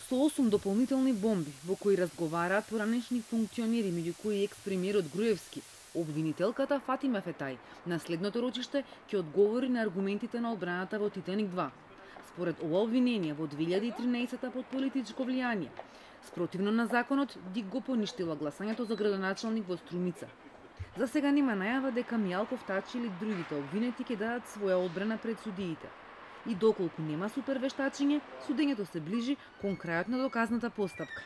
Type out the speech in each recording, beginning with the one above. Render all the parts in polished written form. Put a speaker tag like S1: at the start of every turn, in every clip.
S1: со 8 дополнителни бомби, во кои разговараат поранешни функционери, меѓу кои екс-премиерот Груевски. Обвинителката Фатима Фетај на следното рочиште ќе одговори на аргументите на одбраната во Титаник 2. Според ова обвинение во 2013 под политичко влијание, спротивно на законот, ДИК го поништила гласањето за градоначалник во Струмица. За сега нема најава дека Мијалков, Тачи или другите обвинети ќе дадат своја одбрана пред судиите. И доколку нема супервештачење, судењето се ближи кон крајот на доказната постапка.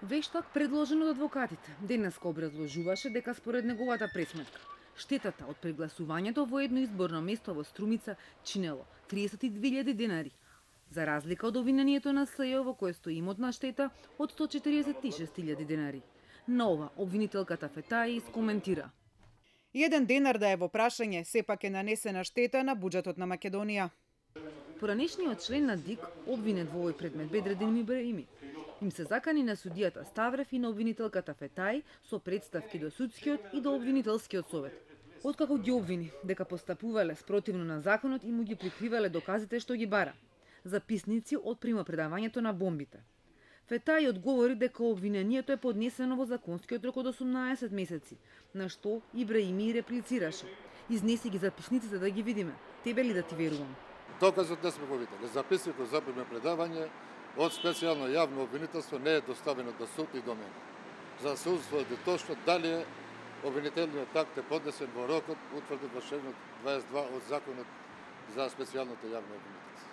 S1: Вештак предложен од адвокатите денеска образложуваше дека според неговата пресметка штетата од прегласувањето во едно изборно место во Струмица чинело 32.000 денари, за разлика од обвинението на СЈО во кое стои имотна штета од 146.000 денари. На ова обвинителката Фетај искоментира:
S2: Еден денар да е во прашање, сепак е нанесена штета на буџетот на Македонија.
S1: Поранешниот член на ДИК, обвинет во овој предмет Бедредин Ибраими, им се закани на судијата Ставрев и на обвинителката Фетај со представки до судскиот и до обвинителскиот совет. Откако ги обвини дека постапувале спротивно на законот и му ги прикривале доказите што ги бара, записници од примопредавањето на бомбите. Фетај одговори дека обвинението е поднесено во законскиот рок од 18 месеци, на што Ибраими реплицираше: Изнеси ги записниците да ги видиме, тебе ли да ти верувам?
S3: Доказот не сме го видели. Записникот за примопредавање од специјално јавно обвинителство не е доставено до суд и до мене. За да се устводи точно дали обвинителниот акт е поднесен во рокот утврден во член 22 од Законот за специјалното јавно обвинителство.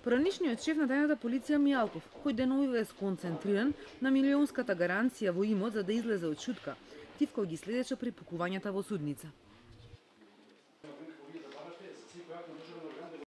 S1: Поранешниот шеф на тајната полиција Мијалков, кој деновиве е сконцентриран на милионската гаранција во имот за да излезе од шутка, тивко ги следеше припукувањата во судница.